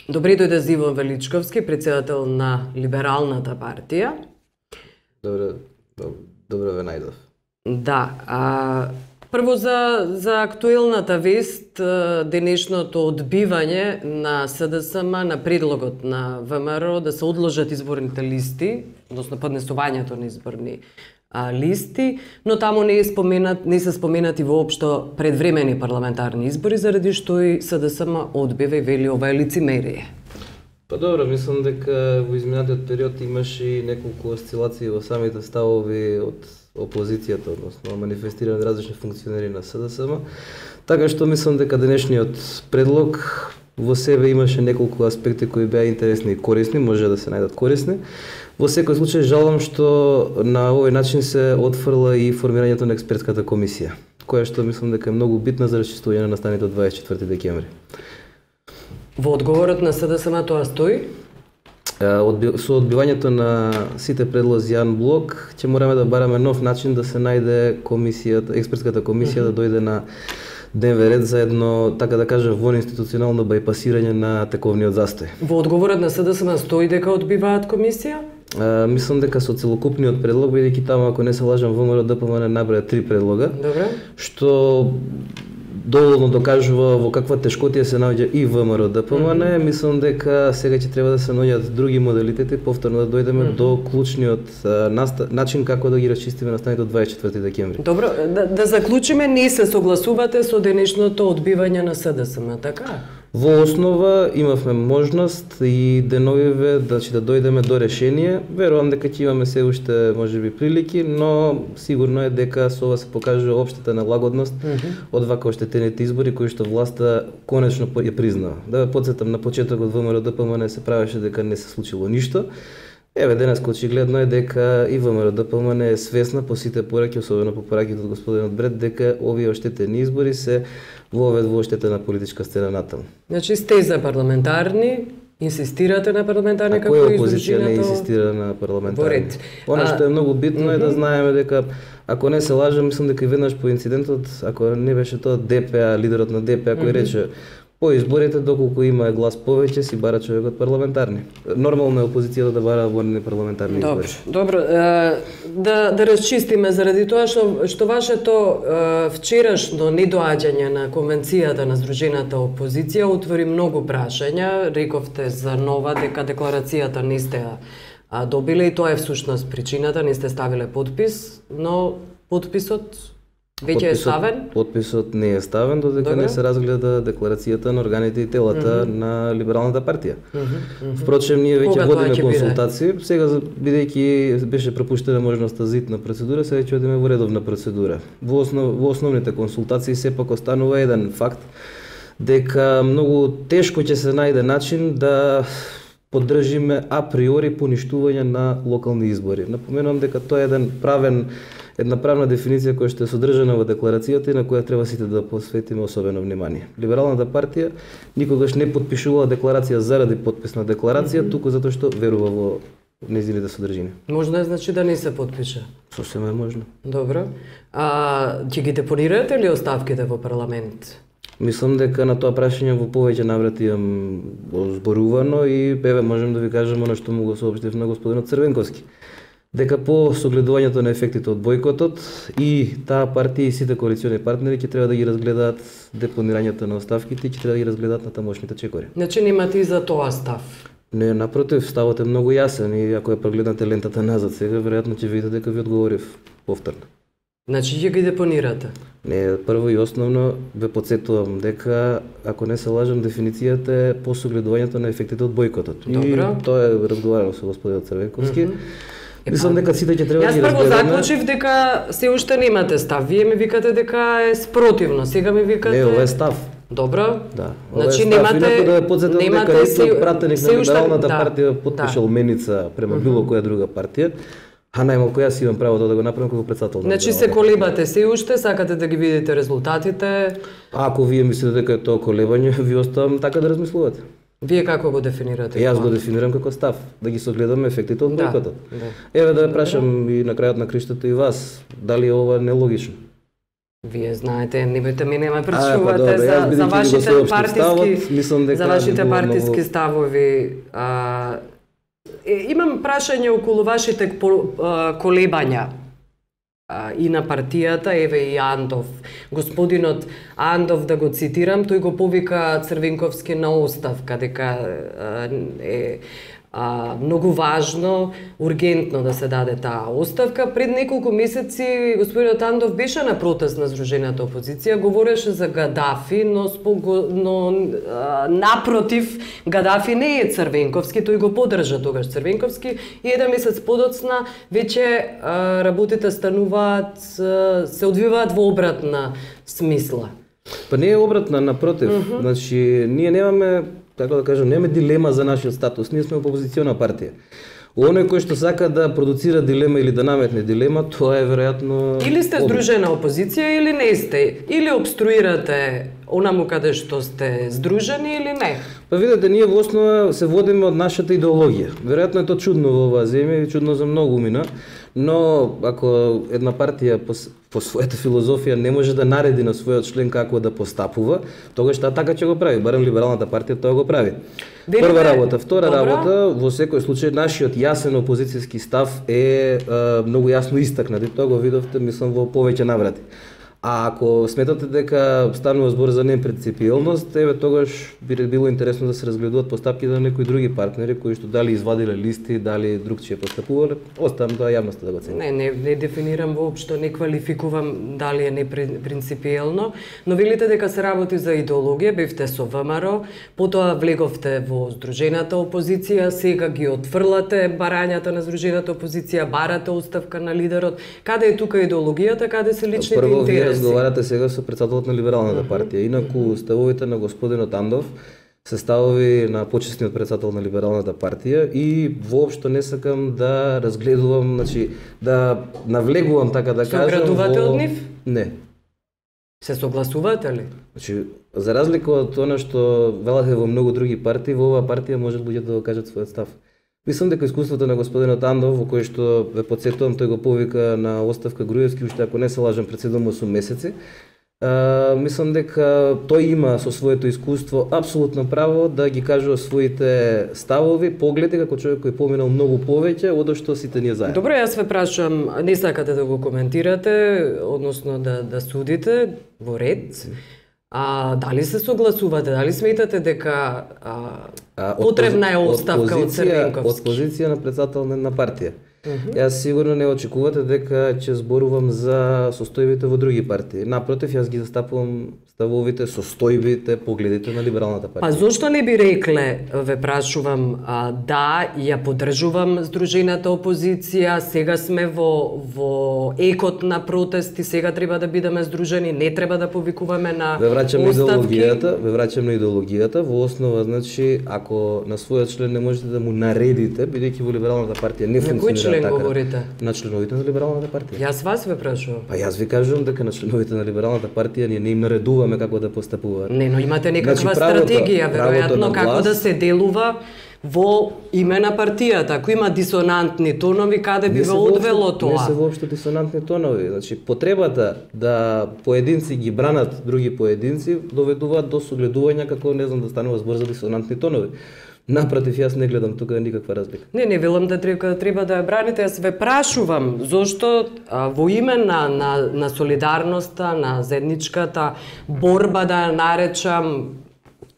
Добри дојде Иван Величковски, председател на Либералната партија. Добро ве најдов. Да, прво за актуелната вест, денешното одбивање на СДСМ на предлогот на ВМРО да се одложат изборните листи, односно поднесувањето на изборни листи, но таму не се споменати воопшто предвремени парламентарни избори, заради што и СДСМ одбива и вели ова е лицемерие. Па добро, мислам дека во изминатиот период имаше и неколку осцилации во самите ставови од опозицијата, односно манифестирани од различни функционери на СДСМ, така што мислам дека денешниот предлог во себе имаше неколку аспекти кои беа интересни и корисни, може да се најдат корисни. Во секој случај жалам што на овој начин се отфрла и формирањето на експертската комисија, која што мислам дека е многу битна за расчистување на настаните од 24 декември. Во одговорот на СДСМ тоа стои? Со одбивањето на сите предлози Јан Блок, ќе мораме да бараме нов начин да се најде комисијата, експертската комисија да дојде на дневен ред за едно, така да кажа, воинституционално бајпасирање на тековниот застој. Во одговорот на СДСМ стои дека одбиваат комисија? Мислам дека со целокупниот предлог, бидејќи таму, ако не се лажам, ВМРО ДПМН наброја 3 предлога, добре, што доволно докажува во каква тешкотија се наоѓа и ВМРО ДПМН. Мислам дека сега ќе треба да се наоѓат други модалитети, повторно да дојдеме до клучниот начин како да ги расчистиме настаните од 24 декември. Добро, да заклучиме, не се согласувате со денешното одбивање на СДСМ, така? Во основа имавме можност и деновиве да дојдеме до решение. Верувам дека ќе имаме се уште можеби прилики, но сигурно е дека со ова се покажува општата налагодност од вака оштетените избори кои што власта конечно ја признава. Да ве потсетам, на почетокот ВМРО ДПМН се правеше дека не се случило ништо. Еве денес очигледно е дека и ВМРО ДПМН е свесна по сите пораки, особено по пораките од господинот Бред, дека овие оштетени избори се вовед во оштетена политичка сцена натаму. Значи сте за парламентарни, инсистирате на парламентарни како и опозиција не инсистира на парламентарни. Она што е многу битно е да знаеме дека ако не се лажам, мислам дека и веднаш по инцидентот, ако не беше тоа ДПА, лидерот на ДПА кој рече по изборите, доколку има глас повеќе, си бара човекот парламентарни. Нормално е опозицијата да бара воени парламентарни избори. Добро, да расчистиме заради тоа што вашето вчерашно недоаѓање на конвенцијата на Сдружената опозиција отвори многу прашања. Рековте за нова дека декларацијата не сте добиле и тоа е всушност причината, не сте ставиле подпис, но подписот веќе е ставен? Подписот не е ставен додека не се разгледа декларацијата на органите и телата на Либералната партија. Впрочем, ние веќе водиме консултации. Сега, бидејќи беше пропуштена можноста за итна процедура, сега ќе одиме во редовна процедура. Во основните консултации сепак останува еден факт, дека многу тешко ќе се најде начин да поддржиме априори поништување на локални избори. Напоменувам дека тоа е една правна дефиниција која што е содржана во декларацијата и на која треба сите да посветиме особено внимание. Либералната партија никогаш не подпишувала декларација заради подпис на декларација, туку затоа што верува во нејзините содржини. Можно е значи да не се подпише? Сосема е можно. Добро. Ќе ги депонирате ли оставките во парламент? Мислам дека на тоа прашање во повеќе наврати имам зборувано и еве можам да ви кажам она што му го соопштив на господинот Црвенковски. Дека по согледувањето на ефектите од бојкотот и таа партија и сите коалициони партнери ќе треба да ги разгледаат депонирањето на оставките и ќе треба да ги разгледаат на тамошните чекори. Значи немате и за тоа став? Не, напротив, ставот е многу јасен и ако ја прогледнате лентата назад сега, веројатно ќе видите дека ви одговорив повторно. Значи ќе ги депонирате? Не, прво и основно ве подсетувам дека, ако не се лажам, дефиницијата е по согледувањето на ефектите од бојкотот. Добро. И тоа е разговарано со господинот Црвенковски. Мислам дека сите ќе треба да ги разгледаме. Јас прво заклучив дека се уште немате став. Вие ми викате дека е спротивно. Сега ми викате... Не, ова е став. Добро. Да. Значи немате... да подсетам дека ниту пратеник на Либералната партија потпишал меница према било која друга партија. А најмалку јас имам право да го направам како председател. Значи се колебате се уште, сакате да ги видите резултатите. Ако вие мислите дека е тоа колебање, ви оставам така да размислувате. Вие како го дефинирате? Јас го дефинирам како став, да ги согледаме ефектите од бојкотот. Еве да ја прашам и на крајот на криштото и вас, дали ова нелогично? Вие знаете, небојте мене ме прашувате за вашите партиски ставови. Имам прашање околу вашите колебања и на партијата, еве и Андов. Господинот Андов, да го цитирам, тој го повика Црвенковски на оставка, дека е многу важно, ургентно да се даде таа оставка. Пред неколку месеци господинот Андов беше на протест на Сдружената опозиција, говореше за Гадафи, но напротив, Гадафи не е Црвенковски, тој го поддржа тогаш Црвенковски и еден месец подоцна веќе работите стануваат, се одвиваат во обратна смисла. Па не е обратна, напротив. Значи, ние немаме, така да кажем, немаме дилема за нашиот статус. Ние сме опозициона партија. Оној кој што сака да продуцира дилема или да наметне дилема, тоа е веројатно... Или сте здружена опозиција или не сте. Или обструирате онаму каде што сте здружени или не. Па видите, ние во основа се водиме од нашата идеологија. Веројатно е тоа чудно во оваа земја и чудно за многу умина, но ако една партија по својата филозофија не може да нареди на својот член како да постапува, тогаш таа така ќе го прави. Барем либералната партија тоа го прави. Прва работа, втора работа, во секој случај нашиот јасен опозицијски став е многу јасно истакнат и тоа го видовте, мислам, во повеќе наврати. А ако сметате дека станува збор за непринципиелност, еве тогаш би било интересно да се разгледуваат постапки на некои други партнери кои што дали извадиле листи, дали другчие постапувале, оставам тоа јавноста да го цени. Не дефинирам воопшто, не квалификувам дали е непринципиелно, но велите дека се работи за идеологија, бевте со ВМРО, потоа влеговте во Здружената опозиција, сега ги отфрлате барањата на Здружената опозиција, барате оставка на лидерот. Каде е тука идеологијата, каде се личните интереси? Разговарате сега со претседателот на Либералната партија. Инаку ставовите на господинот Андов се ставови на почесниот претседател на Либералната партија и воопшто не сакам да разгледувам, значи да навлегувам, така да кажам. Соградувате од нив? Не. Се согласувате ли? Значи, за разлика од она што велате во многу други партии, во оваа партија може луѓето да го кажат својот став. Мислам дека искуството на господинот Андов, во кој што ве потсетувам, тој го повика на оставка Груевски, уште ако не се лажам пред 7-8 месеци. Мислам дека тој има со своето искуство апсолутно право да ги кажува своите ставови, погледи како човек кој поминал многу повеќе од што сите ние заедно. Добро, јас ве прашувам, не сакате да го коментирате, односно да судите во ред. Дали се согласувате, дали сметате дека потребна е оставка од Црвенковски? Од позиција на претседател на партија. Јас сигурно не очекувате дека ќе зборувам за состојбите во други партии. Напротив, јас ги застапувам ставовите, состојбите, погледите на Либералната партија. Па зошто не би рекле, ве прашувам, да, ја поддржувам Здружената опозиција, сега сме во екот на протести, сега треба да бидеме здружени, не треба да повикуваме на оставки. Ве враќам на идеологијата, во основа, значи, ако на својот член не можете да му наредите, бидејќи во Либералната партија не функционира така. Говорите? На членовите на Либералната партија. Јас вас ве прашувам. Па јас ви кажувам дека на членовите на Либералната партија ние не им наредуваме како да постапуваат. Не, но имате некаква стратегија, веројатно, како да се делува во име на партијата. Ако има дисонантни тонови, каде би ве одвело тоа? Не се воопшто дисонантни тонови. Значи, потребата да поединци ги бранат други поединци доведуваат до согледување како, не знам, да станува збор за дисонантни тонови. Напротив, јас не гледам тука никаква разлика. Не велам да треба да ја браните, јас ве прашувам зошто во име на солидарноста, на заедничката борба, да ја наречам,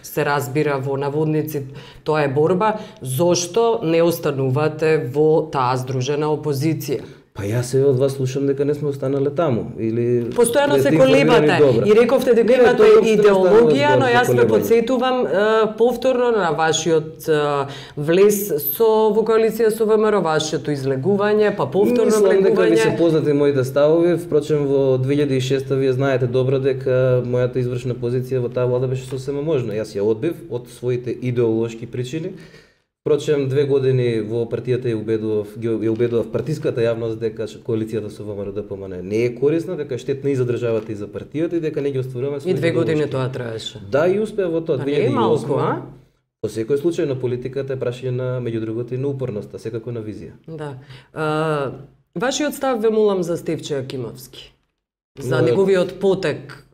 се разбира во наводници, тоа е борба, зошто не останувате во таа здружена опозиција? Па јас од вас слушам дека не сме останале таму или постојано се колебате и рековте дека имате идеологија, но јас ве потсетувам повторно на вашиот влез во коалиција со ВМРО, вашето излегување, па повторно влегување. Мислам дека ви се познати моите ставови, впрочем во 2006 вие знаете добро дека мојата извршна позиција во таа влада беше сосема можна. Јас ја одбив од своите идеолошки причини. Впрочем, 2 години во партијата ја убедував партиската јавност дека коалицијата со ВМРО ДПМН не е корисна, дека е штетна и за државата и за партијата и дека не ги остваруваме своите. И 2 години тоа траеше. Да, и успеа во тоа. 2008. По секој случај на политиката е прашање на меѓу другото и на упорноста, секако на визија. Да. Вашиот став ве молам за Стефче Акимовски. за неговиот потек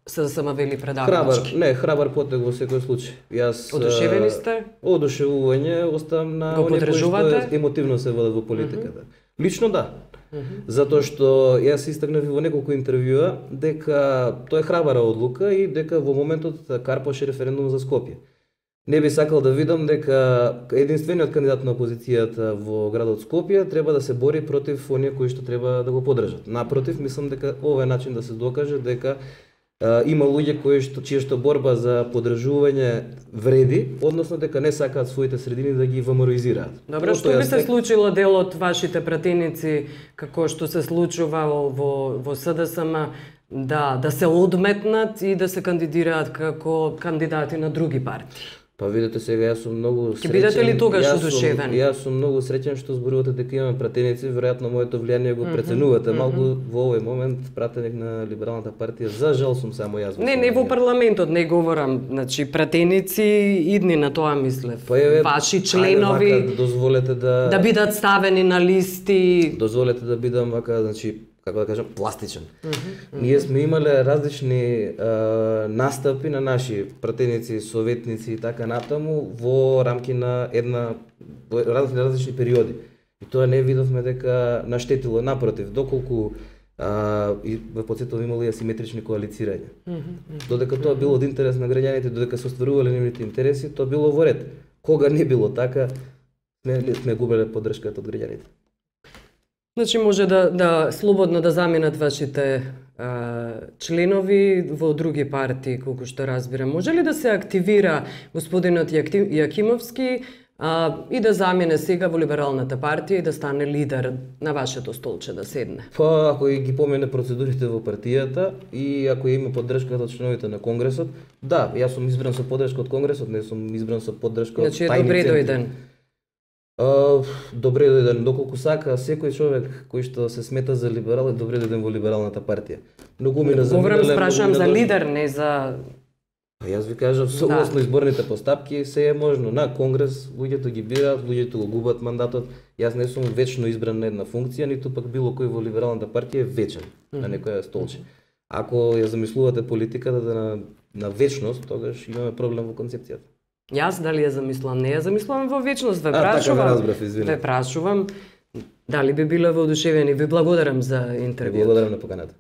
СДСМ вели предавачки. Храбар потек во секој случај. Јас одушевени сте? Одушевување оставам на оние кои што емотивно се водат во политиката. Лично да. Затоа што јас истакнав во неколку интервјуа дека тоа е храбара одлука и дека во моментот карпаше референдум за Скопје. Не би сакал да видам дека единствениот кандидат на опозицијата во градот Скопје треба да се бори против оние кои што треба да го поддржат. Напротив, мислам дека ова е начин да се докаже дека има луѓе чија што борба за поддржување вреди, односно дека не сакаат своите средини да ги ваморизираат. Добро, што би се случило дел од вашите пратеници, како што се случува во СДСМ, да се одметнат и да се кандидираат како кандидати на други партии? Па видете сега, јас сум многу среќен. Ќе бидете ли тогаш одушевени? Јас сум многу среќен што зборувате дека имаме пратеници, веројатно моето влијание го преценувате. Малку во овој момент пратеник на Либералната партија, за жал сум само јас. Не во парламентот не говорам, значи пратеници идни на тоа мислев. Ваши членови дозволете да бидат ставени на листи. Дозволете да бидам вака, значи како да кажам, пластичен. Ние сме имале различни настапи на наши пратеници, советници и така натаму во рамки на различни периоди. И тоа не видовме дека наштетило, напротив, доколку и ве потсетувам имало и асиметрични коалицирања. Додека тоа било од интерес на граѓаните, додека се остварувале нивните интереси, тоа било во ред. Кога не било така, сме губеле поддршката од граѓаните. Значи може да слободно да заминат вашите членови во други партии, колку што разбирам. Може ли да се активира господинот Јакимовски и да замине сега во Либералната партија и да стане лидер на вашето столче да седне? Па, ако ги помине процедурите во партијата и ако има поддршката од членовите на Конгресот, да, јас сум избран со поддршка од Конгресот, не сум избран со поддршка од тајни центри. Значи добре дојден. Добре дојден, доколку сака секој човек кој што се смета за либерал е добре дојден во Либералната партија. Многу ми Говорам, спрашувам за лидер, не за... Јас ви кажав, согласно изборните постапки, се е можно. На Конгрес луѓето ги бираат, луѓето го губат мандатот. Јас не сум вечно избран на една функција, ниту пак било кој во Либералната партија е вечен на некоја столче. Ако ја замислувате политиката на вечност, тогаш имаме проблем во концепцијата. Јас дали ја замислувам? Не ја замислувам во вечност, ве прашувам. Дали би биле воодушевени? Ви благодарам за интервјуто. Благодарам на поканата.